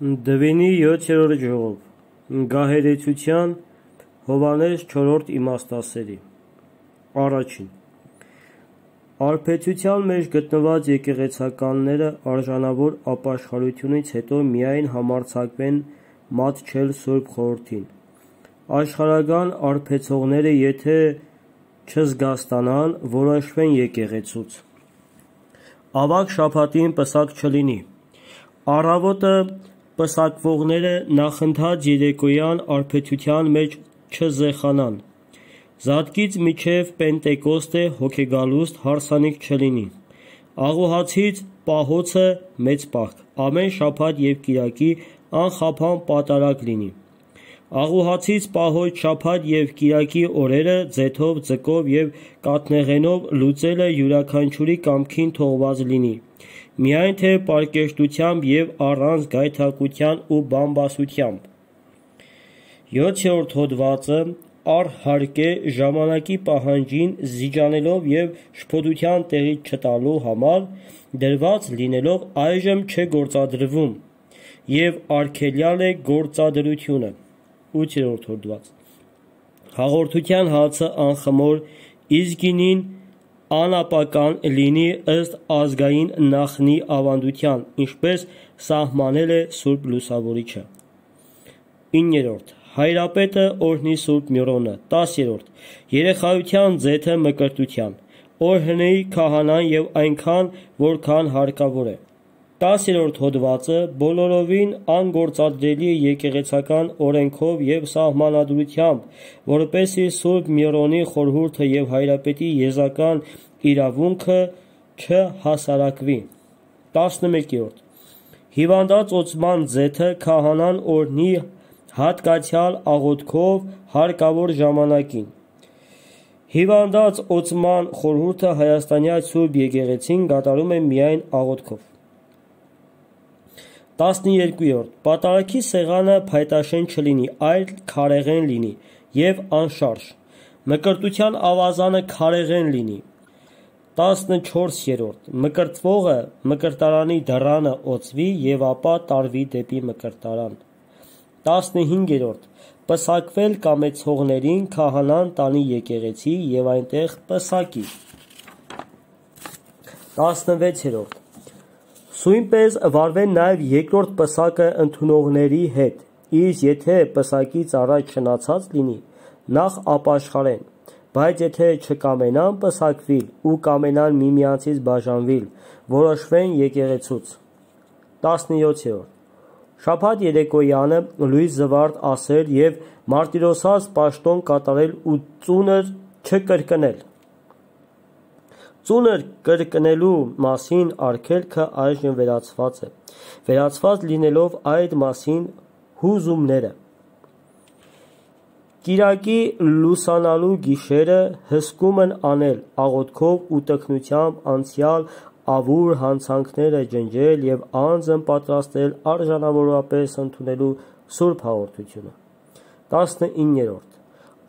Դվինի 7-րդ ժողով Գահերեցության Հովհաննես 4-րդ իմաստասերի Առաջին Արբեցության մեջ գտնված եկեղեցականները արժանավոր ապաշխարությունից հետո միայն համարձակվեն մատչել Սուրբ Խորհրդին։ Աշխարհական արբեցողները եթե չզգաստանան, որոշվեն եկեղեցուց։ Ավագ շաբաթին պսակ չլինի։ Առավոտը պսակվողները նախընթաց երեկոյան արբեցության մեջ չզեխանան։ Զատկից մինչև Պենտեկոստե հոգեգալուստ հարսանիք չլինի։ Աղոհացից պահոցը մեծ պահք, ամեն շաբաթ և կիրակի անխափան պատարագ լինի։ Աղոհացից պահոց շաբաթ և կիրակի օրերը ձեթով, ձկով և կաթնեղենով լուծելը յուրաքանչյուրի կամքին թողված լինի, միայն թե պարկեշտությամբ և առանց գայթակղության ու բամբասությամբ։ 7-րդ հոդվածը առհարկե ժամանակի պահանջին զիջանելով և շփոթության տեղից չտալու համար դրված լինելով այժմ չէ գործադրվում և արգելյալ է գործադրությունը։ 8-րդ հոդված Հաղորդության հացը անխմոր, իսկ գինին անապական լինի ըստ ազգային նախնի ավանդության, ինչպես սահմանել է Սուրբ Լուսավորիչը։ 9-րդ Հայրապետը օրհնի Սուրբ Միրոնը։ 10-րդ Երեխայության ձեթը մկրտության, օրհնի քահանան և այնքան, որքան հարկավոր է։ 10-րդ հոդվածը բոլորովին անգործադրելի է եկեղեցական օրենքով և սահմանադրությամբ, որպեսզի Սուրբ Միրոնի խորհուրդը և Հայրապետի եզական իրավունքը չհասարակվի։ 11-րդ Հիվանդանոց օծման ձեթը քահանան օրհնի հատկացյալ աղոթքով հարկավոր ժամանակին։ Հիվանդանոց օծման խորհուրդը Հայաստանյաց Սուրբ Եկեղեցին կատարում է միայն աղոթքով։ 12-րդ Պատարագի սեղանը փայտաշեն չլինի, այլ քարեղեն լինի և անշարժ։ Մկրտության ավազանը քարեղեն լինի։ 14-րդ Մկրտվողը մկրտարանի դռանը օծվի և ապա տարվի դեպի մկրտարան։ 15-րդ Պսակվել կամեցողներին քահանան տանի եկեղեցի և այնտեղ պսակի։ 16-րդ Սույնպես վարվեն նաև երկրորդ պսակը ընդունողների հետ, իսկ եթե պսակից առաջ շնացած լինի, նախ ապաշխարեն, բայց եթե չկամենան պսակվիլ ու կամենան միմյանցից բաժանվիլ, որոշվեն եկեղեցուց։ 17-րդ Շաբաթ երեկոյանը լույս զվարթ ասել և մարտիրոսած պաշտոն կատարել ու ծունր չկրկնել։ Ծունր կրկնելու մասին արգելքը այժմ վերացված է, վերացված լինելով այդ մասին հուզումները։ Կիրակի լուսանալու գիշերը հսկումն անել, աղոթքով ու տքնությամբ անցյալ ավուր հանցանքները ջնջել և անձն պատրաստել արժանավորապես ընդունելու Սուրբ Հաղորդությունը։ 19-րդ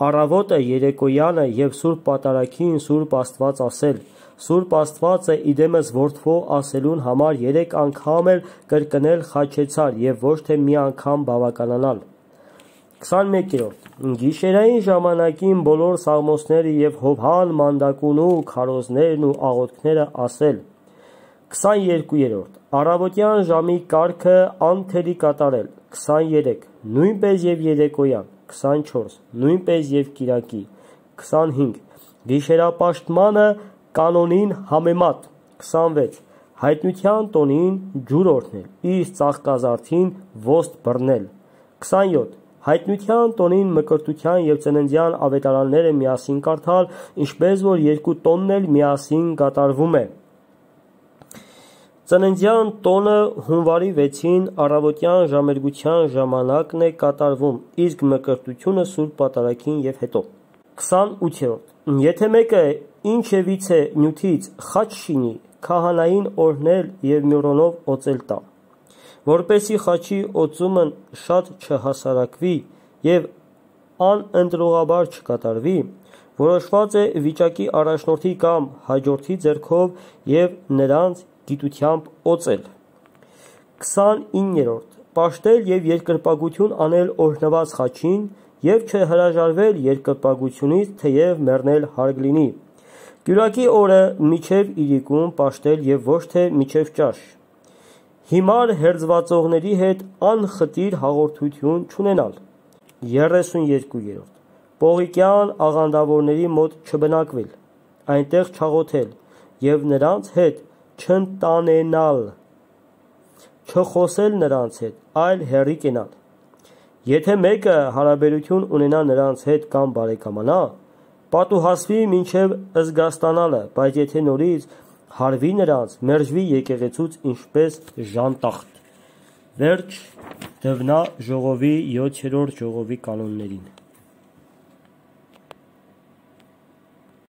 Առավոտը երեկոյանը և Սուրբ Պատարագին Սուրբ Աստված ասել, Սուրբ Աստվածը իդեմս որդվող ասելուն համար 3 անգամ էլ կրկնել խաչեցար և ոչ թե մի անգամ բավականանալ։ 21-րդ Գիշերային ժամանակին բոլոր սաղմոսները և Հովհան մանդակունու քարոզներն ու աղոթքները ասել։ 22-րդ Առավոտյան ժամի կարգը անթերի կատարել։ 23 Նույնպես և երեկոյան։ 24 Նույնպես և կիրակի։ 25 Գիշերապաշտմանը կանոնին համեմատ։ 26 Հայտնության տոնին ջուր օրհնել, իսկ ծաղկազարդին ոստ բռնել։ 27 Հայտնության տոնին մկրտության և ծննդյան ավետարանները միասին կարդալ, ինչպես որ 2 տոնն էլ միասին կատարվում է։ Ծննդյան տոնը հունվարի 6-ին առավոտյան ժամերգության ժամանակն է կատարվում, իսկ մկրտությունը Սուրբ Պատարագին և հետո։ 28-րդ Եթե մեկը ինչևիցե նյութից խաչ շինի, քահանային օրհնել և Միրոնով օծել տա, որպեսզի խաչի օծումն շատ չհասարակվի և անընտրողաբար չկատարվի, որոշված է վիճակի առաջնորդի կամ հաջորդի ձեռքով և նրանց գիտությամբ օծել։ 29-րդ պաշտել և երկրպագություն անել օրհնված խաչին և չհրաժարվել երկրպագությունից, թեև մեռնել հարկ լինի, կյուրակի օրը մինչև իրիկուն պաշտել և ոչ թե մինչև ճաշ, հիմար հերձվածողների հետ անխտիր հաղորդություն չունենալ, 32. Պողիկյան աղանդավորների մոտ չբնակվել, այնտեղ չաղոթել և նրանց հետ չընտանենալ, չխոսել նրանց հետ, այլ հեռի կենալ, եթե մեկը հարաբերություն ունենա նրանց հետ կամ բարեկամանա, պատուհասվի մինչև զգաստանալը, բայց եթե նորից հարվի նրանց, մերժվի եկեղեցուց ինչպես ժանտախտ։ Վերջ դվնա ժողովի 7-րդ ժողովի կանոններին։